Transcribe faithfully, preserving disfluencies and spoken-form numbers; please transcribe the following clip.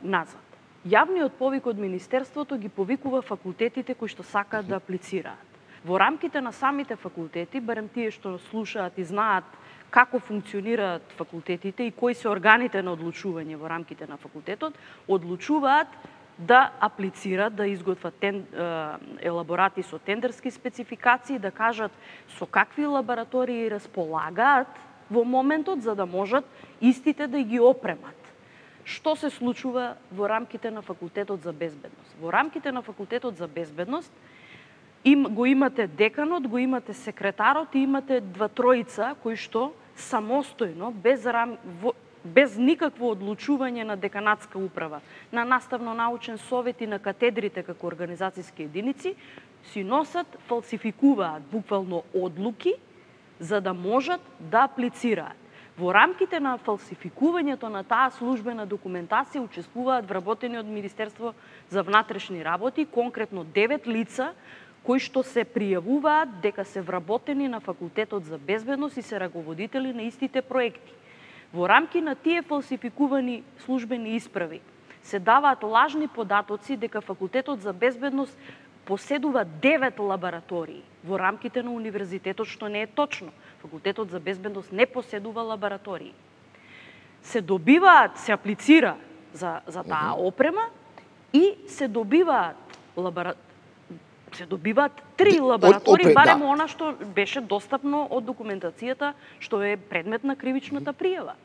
назад. Јавниот повик од Министерството ги повикува факултетите кои што сакаат да аплицираат. Во рамките на самите факултети, барем тие што слушаат и знаат како функционираат факултетите и кои се органите на одлучување во рамките на факултетот, одлучуваат да аплицираат, да изготват тен, елаборати со тендерски спецификации, да кажат со какви лаборатории располагаат во моментот за да можат истите да ги опремат. Што се случува во рамките на факултетот за безбедност? Во рамките на факултетот за безбедност им го имате деканот, го имате секретарот и имате два тројца кои што самостојно без рам, во, без никакво одлучување на деканатска управа, на наставно-научен совет и на катедрите како организацијски единици, си носат, фалсификуваат буквално одлуки за да можат да аплицираат. Во рамките на фалсификувањето на таа службена документација учествуваат вработени од Министерство за внатрешни работи, конкретно девет лица кои што се пријавуваат дека се вработени на Факултетот за безбедност и се раководители на истите проекти. Во рамки на тие фалсификувани службени исправи се даваат лажни податоци дека Факултетот за безбедност поседува девет лаборатории во рамките на универзитетот, што не е точно. Факултетот за безбедност не поседува лаборатории. Се добиваат, се аплицира за, за таа опрема и се добиваат лабора... се добиваат три лаборатории, барем да. Она што беше достапно од документацијата што е предмет на кривичната пријава.